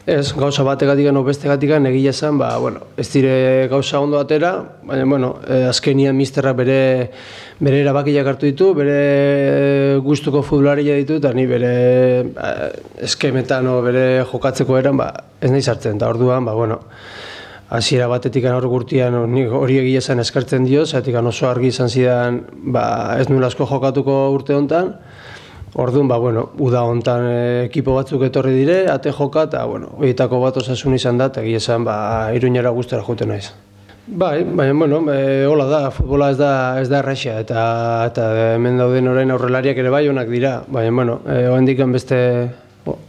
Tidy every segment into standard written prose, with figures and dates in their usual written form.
Ez, gauza bategatik edo bestegatik egia esan, ez dire gauza ondo atera, baina, azkenian misterrak bere erabakiak hartu ditu, bere gustuko futbolaria ditu, eta ni bere eskemetan o bere jokatzeko eran, ez nahi sartzen, eta orduan, hasiera batetik hor gurtian hori egia esan eskartzen dio, zatik oso argi izan zidan, ez nula asko jokatuko urte honetan. Orduan, uda honetan ekipo batzuk etorri dire, ate joka, eta horietako bat osasun izan da, eta egia esan, Iruñera gustora joten naiz. Baina, hola da, futbola ez da erraixa, eta hemen dauden orain aurrelariak ere bai onak dira, baina,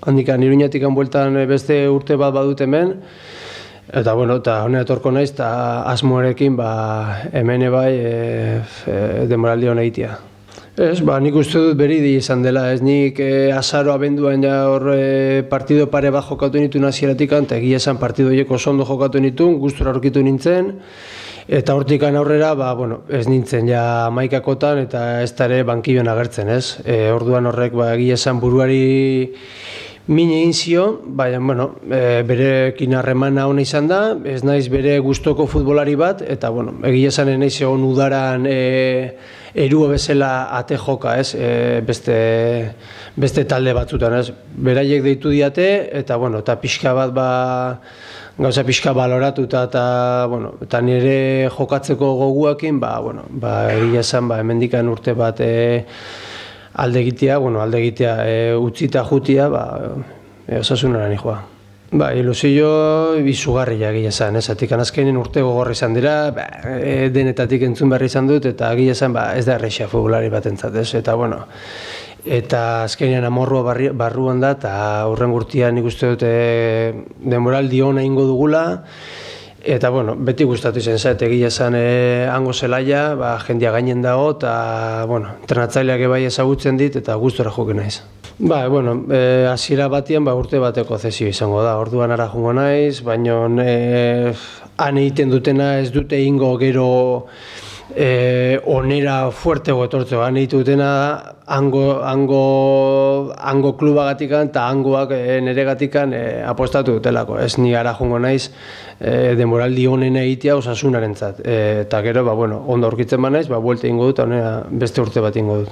handikan Iruñatik bueltan beste urte bat badut hemen, eta honera etorko naiz, eta asmoarekin hemen bai denboraldi hona egitea. Ez, nik uste dut beridi izan dela, ez nik azaro abenduan hor partido pare bat jokatu nituen hasieratik, eta egia esan partido horiek oso ondo jokatu nituen, gustura aurkitu nintzen, eta hortik aurrera, ez nintzen ja hamaikakotan eta ez da ere bankilloan agertzen, ez? Orduan horrek egia esan buruari min egin zio, baina, berekin harremana ona izan da, ez naiz bere gustoko futbolari bat, eta, egia esan naiz egon udaran erua bezala ate joka, ez, beste talde batzutan, ez, beraiek deitu diate, eta pixka bat, gauza pixka baloratu eta nire jokatzeko goguakin, egia esan, hemendikan urte bat alde egitea, utzita jutia, osasunara nijoa. Ilusio izugarria egia esan, ezatik azkenean urte gogorra izan dira, denetatik entzun behar izan dut, eta egia esan ez da errexea futbolari bat entzat, eta azkenean amorrua barruan da, eta hurren gurtian nik uste dute denboraldi hona ingo dugula, eta beti gustatu izan zait, egia esan hango zelaia, jendia gainen dago, eta entrenatzaileak ebai ezagutzen dit, eta gustora joken naiz. Hasiera batian urte bateko zesio izango da, orduan ara jungo naiz, baina han egiten dutena ez dute ingo gero onera fuertego etortzeko, han egiten dutena hango klubagatik eta hangoak neregatik apostatu dutelako. Ez ni ara jungo naiz denboraldi honen egitea osasunarentzat, eta gero ondo aurkitzen banaiz, buelta ingo dut, beste urte bat ingo dut.